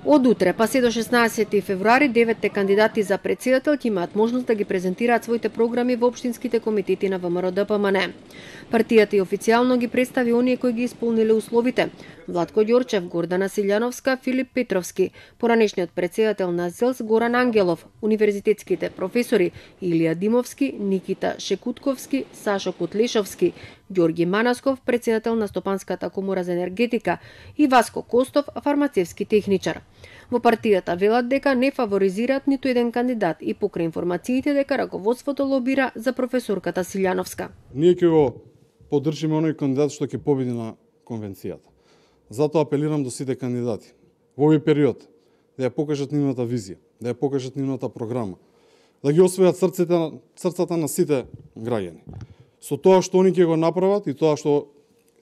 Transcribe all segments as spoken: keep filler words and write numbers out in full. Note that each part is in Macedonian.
Од утре па се до шеснаесети февруари деветте кандидати за претседател ќе имаат можност да ги презентираат своите програми во општинските комитети на ВМРО-ДПМН. Партијата и официјално ги представи оние кои ги исполниле условите: Владко Ѓорчев, Гордана Силјановска, Филип Петровски, поранешниот претседател на ЗЕЛС Горан Ангелов, универзитетските професори Илија Димовски, Никита Шекутковски, Сашо Котлешовски, Ѓорги Манасков, претседател на Стопанската комора за енергетика, и Васко Костов, фармацевски техничар. Во партијата велат дека не фаворизираат ниту еден кандидат и покрај информациите дека раководството лобира за професорката Силјановска. Ние ќе го поддржиме оној кандидат што ќе победи на конвенцијата. Затоа апелирам до сите кандидати во овој период да ја покажат нивната визија, да ја покажат нивната програма, да ги освојат срцата, срцата на сите граѓани. Со тоа што они ќе го направат и тоа што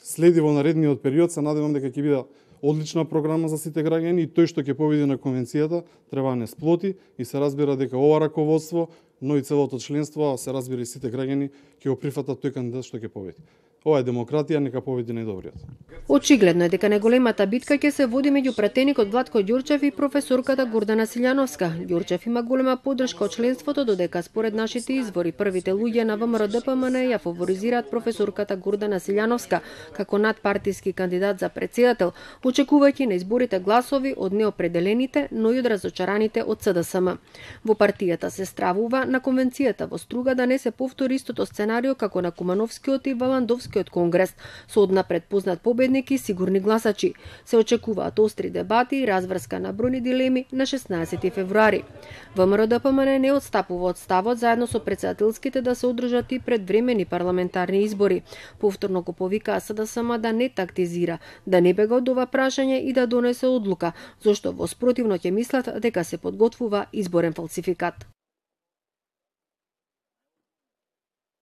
следи во наредниот период, се надевам дека ќе биде одлична програма за сите граѓани и тој што ќе победи на конвенцијата треба да не сплоти и се разбира дека ова раководство, но и целото членство, а се разбира и сите граѓани ќе го прифатат тој кандидат што ќе победи. Ова е демократија, нека победи најдобриот. Очигледно е дека најголемата битка ќе се води меѓу пратеникот Владко Ѓорчев и професорката Гордана Силјановска. Ѓорчев има голема поддршка од членството, додека според нашите извори првите луѓе на ВМРО-ДПМН ја фаворизираат професорката Гордана Силјановска како надпартиски кандидат за претседател, очекувајќи на изборите гласови од неопределените, но и од разочараните од СДСМ. Во партијата се стравува на конвенцијата во Струга да не се повтори истото сценарио како на Кумановскиот и Валандовски од Конгрес, со однапред познат победник и сигурни гласачи. Се очекуваат остри дебати и разврска на бројни дилеми на шеснаесети февруари. ВМРО-ДПМН не отстапува од ставот заедно со претседателските да се одржат и предвремени парламентарни избори. Повторно го повикаа СДСМ да не тактизира, да не бега од ова прашање и да донесе одлука, зашто во спротивно ќе мислат дека се подготвува изборен фалсификат.